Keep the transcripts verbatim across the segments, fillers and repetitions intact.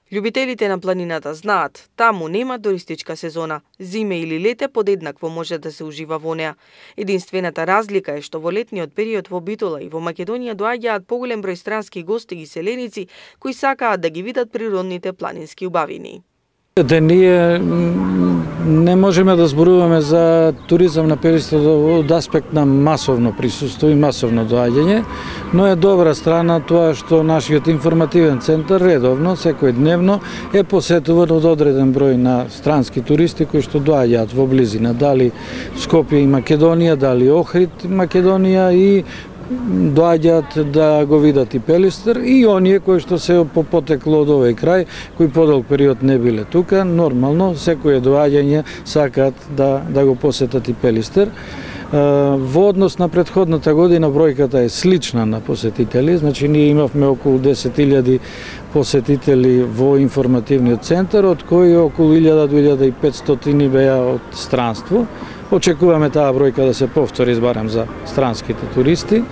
Љубителите на планината знаат, таму нема туристичка сезона. Зиме или лете подеднакво може да се ужива во неа. Единствената разлика е што во летниот период во Битола и во Македонија доаѓаат поголем број странски гости и селеници кои сакаат да ги видат природните планински убавини. Да ние не можеме да зборуваме за туризам на Пелистер од аспект на масовно присуство и масовно доаѓање, но е добра страна тоа што нашиот информативен центар редовно, секојдневно, е посетуван од одреден број на странски туристи кои што доаѓаат во близина, дали Скопје и Македонија, дали Охрид Македонија, и доаѓаат да го видат и Пелистер, и оние кои што се по потекло од овој крај, кои подолг период не биле тука, нормално секое доаѓање сакаат да да го посетат и Пелистер. Во однос на претходната година бројката е слична на посетители, значи ние имавме околу десет илјади посетители во информативниот центар, од кои околу илјада до илјада и петстотини беа од странство. Очекуваме таа бројка да се повтори барем за странските туристи.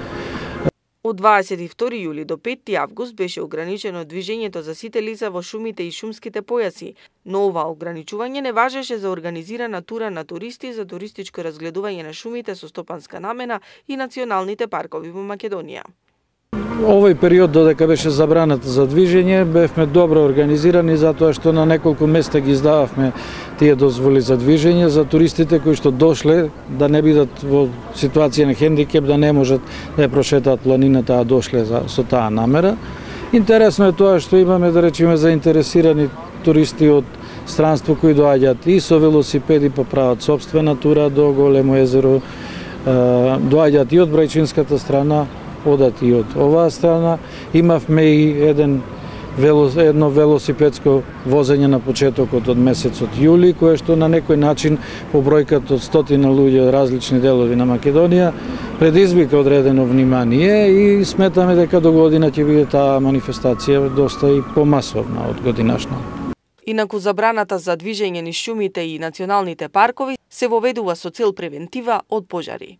Од дваесет и втори јули до петти август беше ограничено движењето за сите лица во шумите и шумските појаси, но ова ограничување не важеше за организирана тура на туристи за туристичко разгледување на шумите со стопанска намена и националните паркови во Македонија. Овој период додека беше забраната за движење, бевме добро организирани затоа што на неколку места ги издававме тие дозволи за движење за туристите кои што дошле да не бидат во ситуација на хендикеп, да не можат да ја прошетаат планината, а дошле за, со таа намера. Интересно е тоа што имаме, да речеме, заинтересирани туристи од странство кои доаѓаат и со велосипеди па прават собствена тура до Големо езеро, доаѓаат и од брајчинската страна, одат и од оваа страна. Имавме и еден велос, едно велосипедско возење на почетокот од месецот јули, кое што на некој начин по бројката од стотина луѓе од различни делови на Македонија предизвика одредено внимание и сметаме дека до година ќе биде таа манифестација доста и помасовна од годинашна. Инаку забраната за движење низ шумите и националните паркови се воведува со цел превентива од пожари.